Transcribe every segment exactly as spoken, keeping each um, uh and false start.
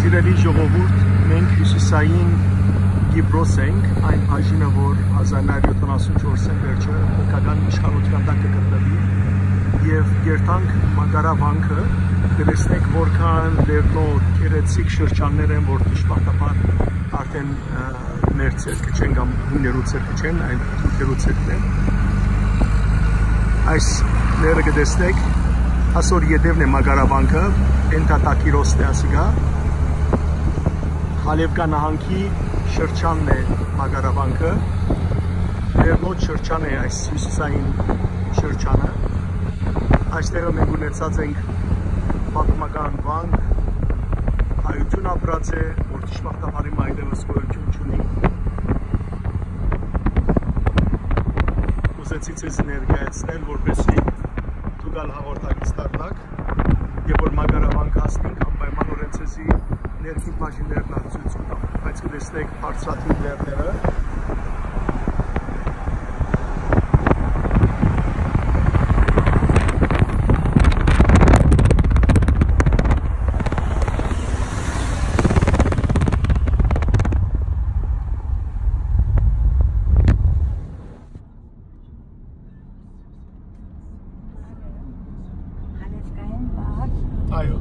Սիրելի ժողովուրդ, մենք հիւսիսային Կիպրոս ենք, այն բաժինը, որ հազար նոյ հարիւր յոթանասուն չորսին վերջը թուրքական իշխանութեան տակ կը գտնուի, եւ կ'երթանք Մակարավանքը, կը տեսնենք, որքան լեռնոտ, գեղեցիկ շրջաններ են, որ դժբախտաբար արդեն, ը, մեր ձեռքը չեն կամ հիններու ձեռքը չեն, այլ թուրքերու ձեռքն են։ Այս լեռը կը տեսնեք, ասոր ետևն է Մակարավանքը, Էնթա Տակիրոսն է ասիկա, Հալեւկա նահանգի շրջանն է Մակարավանքը, լեռնոտ շրջան է այս հիւսիսային շրջանը։ Այստեղը մենք ունեցած ենք պատմական վանք, հայութիւն ապրած է, որ դժբախտաբար հիմա այդտեղս գոյութիւն չունի։ Ուզեցի ձեզ ներկայացնել, որպեսզի դուք ալ հաղորդակից դառնաք, եւ որ Մակարավանք հասնենք, անպայմանօրէն ձեզի ներքին բաժիններն ալ ցոյց կու տամ, բայց կը տեսնեք բարձրադիր լեռները։ Հալեւկայէն վար։ Այո։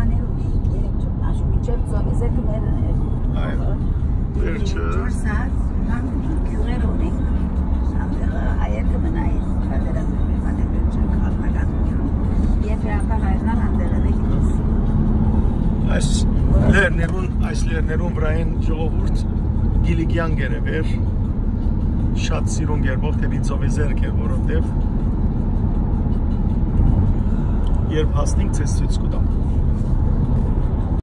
Աներու երեք չորս, մինչեւ ծովեզերքը մերն էր։ Այո։ Վերջը։ Չորս սաց, համ գիւղեր ունենք, համ հայերը կը մնային, պատերազմի, պատերազմի քաղաքական, եւ հրապարակն ալ անտեղել է գիտես։ Այս լեռներուն, այս լեռներուն վրայէն ժողովուրդ Կիլիկեան կ'երեւէր, շատ սիրուն կերպով դէպի ծովեզերք էր, որովհետեւ երբ հասնենք, ձեզ ցոյց կու տամ։